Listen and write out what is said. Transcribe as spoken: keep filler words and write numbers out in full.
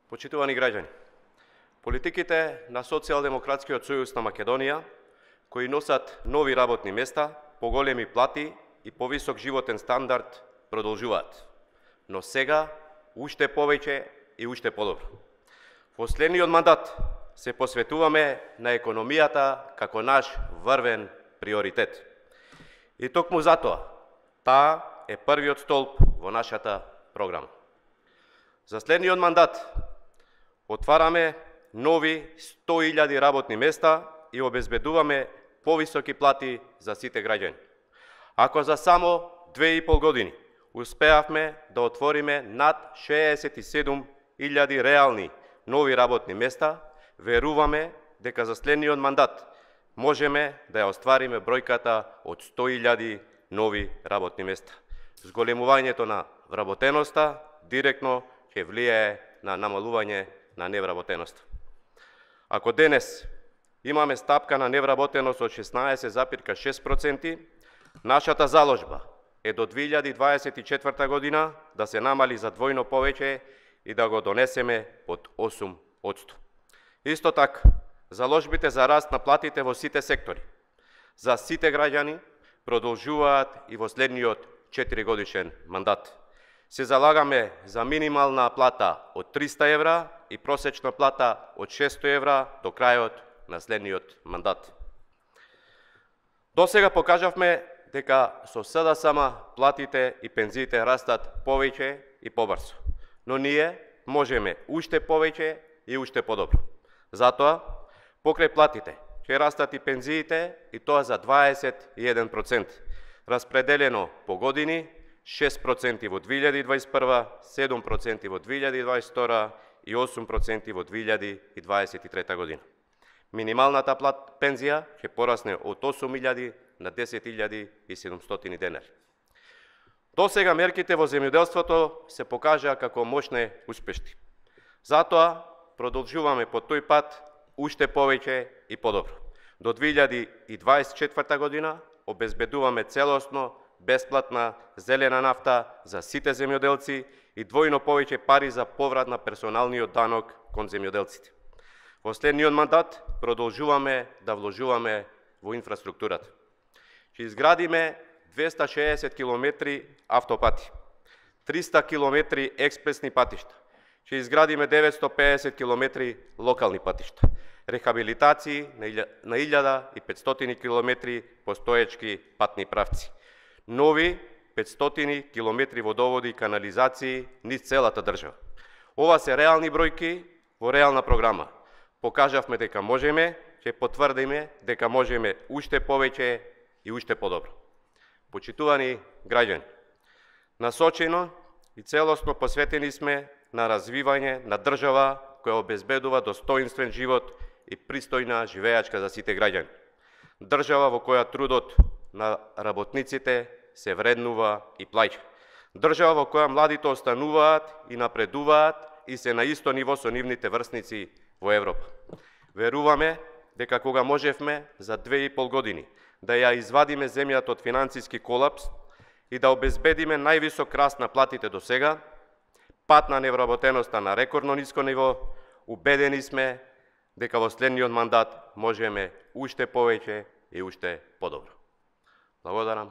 Почитувани граѓани, политиките на Социјалдемократскиот сојуз на Македонија, кои носат нови работни места, поголеми плати и повисок животен стандард, продолжуваат. Но сега, уште повеќе и уште подобро. Во следниот мандат се посветуваме на економијата како наш врвен приоритет. И токму затоа, таа е првиот столб во нашата програма. За следниот мандат отвараме нови сто илјади работни места и обезбедуваме повисоки плати за сите граѓани. Ако за само две и пол години успеавме да отвориме над шеесет и седум илјади реални нови работни места, веруваме дека за следниот мандат можеме да ја оствариме бројката од сто илјади нови работни места. Зголемувањето на вработеноста директно ќе влијае на намалување на невработеноста. Ако денес имаме стапка на невработеност од шеснаесет запирка шест проценти, нашата заложба е до две илјади дваесет и четврта година да се намали за двојно повеќе и да го донесеме под осум одсто. Исто така, заложбите за раст на платите во сите сектори, за сите граѓани, продолжуваат и во следниот четиригодишен мандат. Се залагаме за минимална плата од триста евра и просечна плата од шесто евра до крајот на следниот мандат. До сега покажавме дека со СДСМ платите и пензиите растат повеќе и побрзо, но ние можеме уште повеќе и уште подобро. Затоа, покрај платите ќе растат и пензиите, и тоа за дваесет и еден процент, распределено по години, шест проценти во две илјади дваесет и прва, седум проценти во две илјади дваесет и втора и осум проценти во две илјади дваесет и трета година. Минималната плат пензија ќе порасне од осум илјади на десет илјади и седумстотини денари. До сега мерките во земјоделството се покажаа како мощни успешни. Затоа продолжуваме по тој пат уште повеќе и подобро. До две илјади дваесет и четврта година обезбедуваме целосно бесплатна зелена нафта за сите земјоделци и двојно повеќе пари за поврат на персоналниот данок кон земјоделците. Во следниот мандат продолжуваме да вложуваме во инфраструктурата. Ќе изградиме двеста и шеесет километри автопати, триста километри експресни патишта, ќе изградиме деветстотини и педесет километри локални патишта, рехабилитации на илјада и петстотини километри постоечки патни правци, нови петстотини километри водоводи и канализации низ целата држава. Ова се реални бројки во реална програма. Покажавме дека можеме, ќе потврдиме дека можеме уште повеќе и уште подобро. Почитувани граѓани, насочено и целосно посветени сме на развивање на држава која обезбедува достоинствен живот и пристојна живеачка за сите граѓани. Држава во која трудот на работниците се вреднува и плаќа. Држава во која младите остануваат и напредуваат и се на исто ниво со нивните врсници во Европа. Веруваме дека кога можевме за две и пол години да ја извадиме земјата од финансиски колапс и да обезбедиме највисок раст на платите до сега, пат на невработеноста на рекордно ниско ниво, убедени сме дека во следниот мандат можеме уште повеќе и уште подобро. Благодарам.